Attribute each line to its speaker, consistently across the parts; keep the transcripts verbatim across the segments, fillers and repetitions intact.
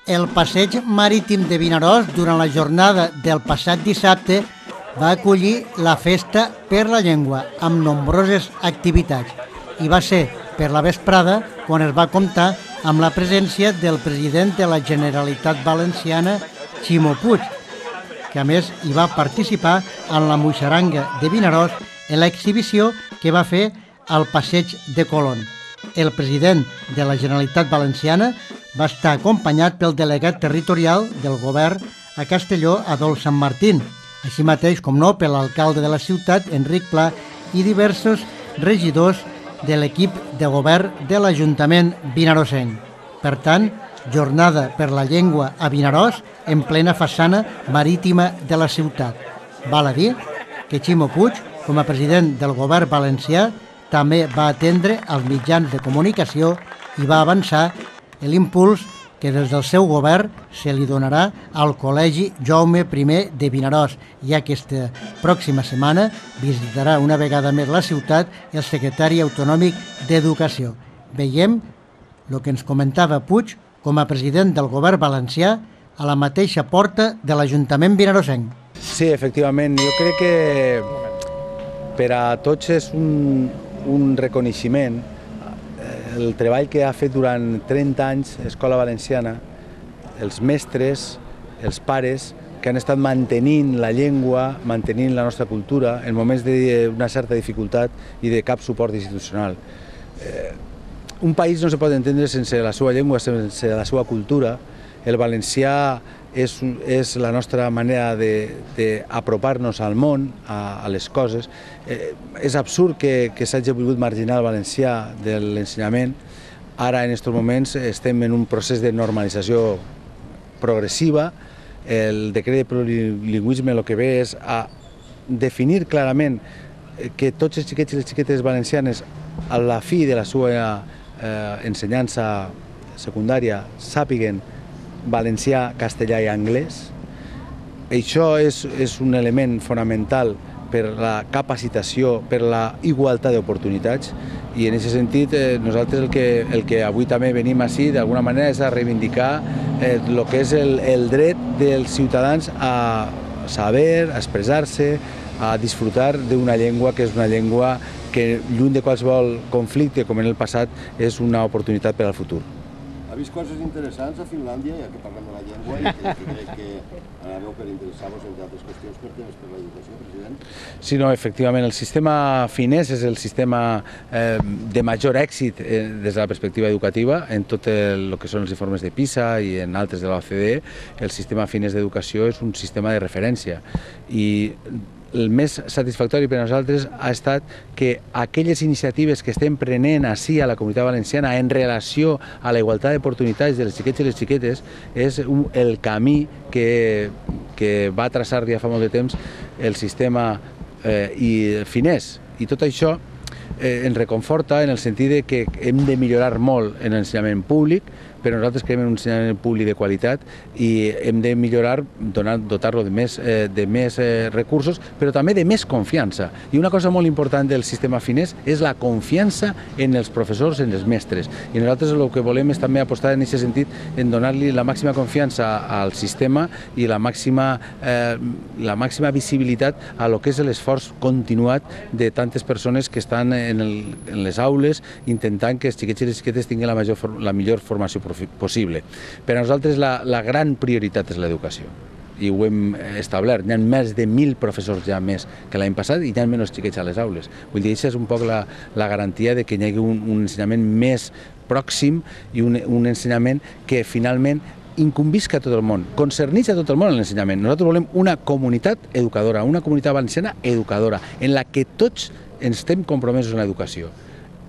Speaker 1: El passeig marítim de Vinaròs durant la jornada del passat dissabte va acollir la Festa per la Llengua amb nombroses activitats i va ser per la vesprada quan es va comptar amb la presència del president de la Generalitat Valenciana, Ximo Puig, que a més hi va participar en la moixaranga de Vinaròs en l'exhibició que va fer al passeig de Colón. El president de la Generalitat Valenciana va estar acompanyat pel delegat territorial del govern a Castelló, Adolf Sant Martín, així mateix, com no, per l'alcalde de la ciutat, Enric Pla, i diversos regidors de l'equip de govern de l'Ajuntament vinaròsenc. Per tant, jornada per la llengua a Vinaròs en plena façana marítima de la ciutat. Val a dir que Ximo Puig, com a president del govern valencià, també va atendre els mitjans de comunicació i va avançar l'impuls que des del seu govern se li donarà al Col·legi Jaume primer de Vinaròs, ja que aquesta pròxima setmana visitarà una vegada més la ciutat el secretari autonòmic d'Educació. Veiem el que ens comentava Puig com a president del govern valencià a la mateixa porta de l'Ajuntament vinaròsenc.
Speaker 2: Sí, efectivament, jo crec que per a tots és un, un reconeixement el treball que ha fet durant trenta anys Escola Valenciana, els mestres, els pares, que han estat mantenint la llengua, mantenint la nostra cultura en moments d'una certa dificultat i de cap suport institucional. Eh, un país no se pot entendre sense la seva llengua, sense la seva cultura. El valencià és, és la nostra manera d'apropar-nos al món, a, a les coses. Eh, és absurd que, que s'hagi volgut marginar el valencià de l'ensenyament. Ara, en aquests moments, estem en un procés de normalització progressiva. El decret de plurilingüisme el que ve és a definir clarament que tots els xiquets i les xiquetes valencianes, a la fi de la seva eh, ensenyança secundària, sàpiguen valencià, castellà i anglès. Això és, és un element fonamental per la capacitació, per la igualtat d'oportunitats, i en aquest sentit eh, nosaltres el que, el que avui també venim així d'alguna manera és a reivindicar eh, el que és el, el dret dels ciutadans a saber, a expressar-se, a disfrutar d'una llengua que és una llengua que, lluny de qualsevol conflicte com en el passat, és una oportunitat per al futur.
Speaker 3: Ha vist coses interessants a Finlàndia, ja que parlem de la llengua, i que, que crec que anàveu per interessar-vos, entre altres qüestions, per temes per l'educació, president?
Speaker 2: Sí, no, efectivament, el sistema finès és el sistema eh, de major èxit eh, des de la perspectiva educativa en tot el, el que són els informes de PISA i en altres de l'O C D E. El sistema finès d'educació és un sistema de referència i el més satisfactori per a nosaltres ha estat que aquelles iniciatives que estem prenent ací a la Comunitat Valenciana en relació a la igualtat d'oportunitats de les xiquets i les xiquetes és un, el camí que, que va traçar ja fa molt de temps el sistema eh, i finès. I tot això eh, ens reconforta en el sentit de que hem de millorar molt en l'ensenyament públic, però nosaltres creiem en un ensenyament públic de qualitat i hem de millorar, dotar-lo de més, eh, de més eh, recursos, però també de més confiança. I una cosa molt important del sistema finès és la confiança en els professors, en els mestres. I nosaltres el que volem és també apostar en aquest sentit, en donar-li la màxima confiança al sistema i la màxima, eh, la màxima visibilitat a lo que és l'esforç continuat de tantes persones que estan en, el, en les aules intentant que els xiquets i les xiquetes tinguin la, major, la millor formació possible. Per a nosaltres la, la gran prioritat és l'educació i ho hem establert. Hi ha més de mil professors ja més que l'any passat i hi ha menys xiquets a les aules. Vull dir, això és un poc la, la garantia de que hi hagi un, un ensenyament més pròxim i un, un ensenyament que finalment incumbisca a tot el món, concernitza a tot el món en l'ensenyament. Nosaltres volem una comunitat educadora, una comunitat valenciana educadora, en la que tots ens estem compromesos en l'educació.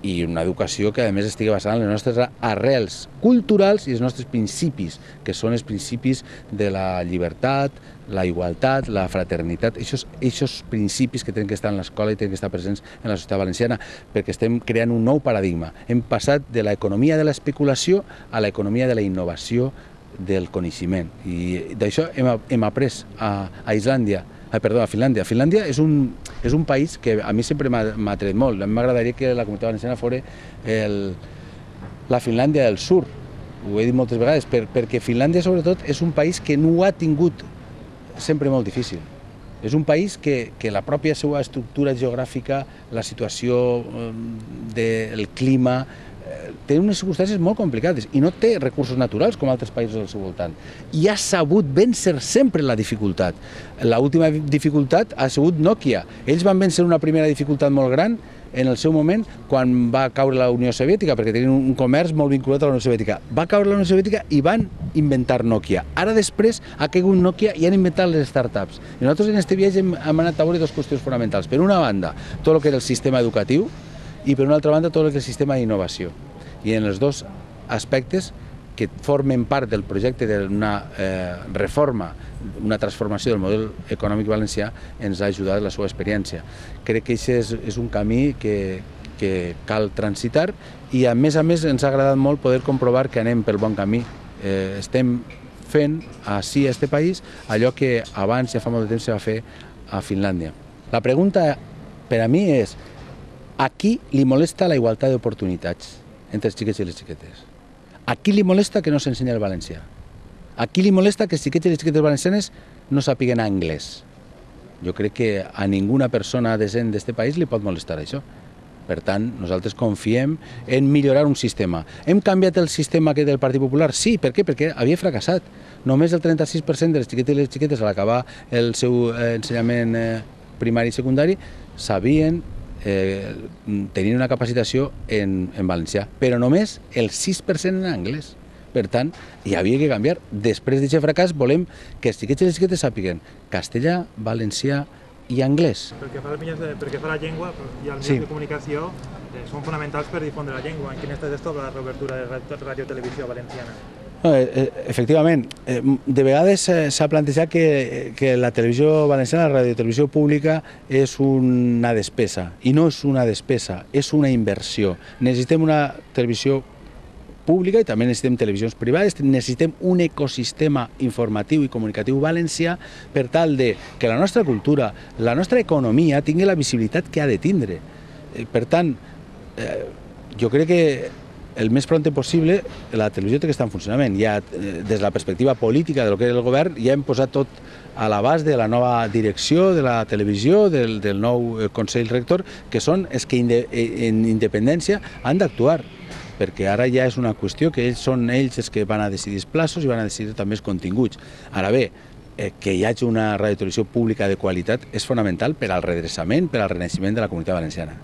Speaker 2: I una educació que a més estigui basada en les nostres arrels culturals i els nostres principis, que són els principis de la llibertat, la igualtat, la fraternitat, aquests principis que tenen que estar en l'escola i tenen que estar presents en la societat valenciana, perquè estem creant un nou paradigma. Hem passat de l'economia de l'especulació a l'economia de la innovació del coneixement. I d'això hem, hem après a, a Islàndia, Ah, perdó, a Finlàndia. Finlàndia és un, és un país que a mi sempre m'ha atret molt. A mi m'agradaria que la Comunitat Valenciana fos el, la Finlàndia del Sur, ho he dit moltes vegades, per, perquè Finlàndia sobretot és un país que no ho ha tingut sempre molt difícil. És un país que, que la pròpia seva estructura geogràfica, la situació del clima, té unes circumstàncies molt complicades i no té recursos naturals com altres països al seu voltant. I ha sabut vèncer sempre la dificultat. L'última dificultat ha sigut Nokia. Ells van vèncer una primera dificultat molt gran en el seu moment quan va caure la Unió Soviètica, perquè tenien un comerç molt vinculat a la Unió Soviètica. Va caure la Unió Soviètica i van inventar Nokia. Ara després ha caigut Nokia i han inventat les startups. I nosaltres en aquest viatge hem, hem anat a veure dues qüestions fonamentals. Per una banda, tot el que era el sistema educatiu i per una altra banda, tot el que és el sistema d'innovació. I en els dos aspectes que formen part del projecte d'una eh, reforma, una transformació del model econòmic valencià, ens ha ajudat la seva experiència. Crec que aquest és, és un camí que, que cal transitar i a més a més ens ha agradat molt poder comprovar que anem pel bon camí. Eh, estem fent així a aquest país allò que abans, ja fa molt de temps, se va fer a Finlàndia. La pregunta per a mi és: a qui li molesta la igualtat d'oportunitats entre els xiquets i les xiquetes? A qui li molesta que no s'ensenya el valencià? A qui li molesta que els xiquets i les xiquetes valencianes no sàpiguen anglès? Jo crec que a ninguna persona decent d'aquest país li pot molestar això. Per tant, nosaltres confiem en millorar un sistema. Hem canviat el sistema que del Partit Popular? Sí, per què? Perquè havia fracassat. Només el trenta-sis per cent de les xiquetes i les xiquetes a l'acabar el seu ensenyament primari i secundari sabien Eh, tenien una capacitació en, en valencià, però només el sis per cent en anglès. Per tant, hi havia que canviar. Després d'aquest fracàs volem que els xiquets i les xiquetes sàpiguen castellà, valencià i anglès.
Speaker 4: Pel que fa, pel que fa a la llengua i als mitjans sí. de comunicació, eh, són fonamentals per difondre la llengua. En quin estat es troba la reobertura de radiotelevisió valenciana?
Speaker 2: No, efectivament, de vegades s'ha plantejat que, que la televisió valenciana, la radiotelevisió pública, és una despesa, i no és una despesa, és una inversió. Necessitem una televisió pública i també necessitem televisions privades, necessitem un ecosistema informatiu i comunicatiu valencià per tal de que la nostra cultura, la nostra economia tingui la visibilitat que ha de tindre. Per tant, jo crec que el més pront possible la televisió té que estar en funcionament. Ja, des de la perspectiva política de lo que és el govern, ja hem posat tot a l'abast de la nova direcció de la televisió, del, del nou Consell Rector, que són els que en independència han d'actuar, perquè ara ja és una qüestió que ells són ells els que van a decidir els plaços i van a decidir també els continguts. Ara bé, que hi hagi una radiotelevisió pública de qualitat és fonamental per al redreçament, per al renaixement de la comunitat valenciana.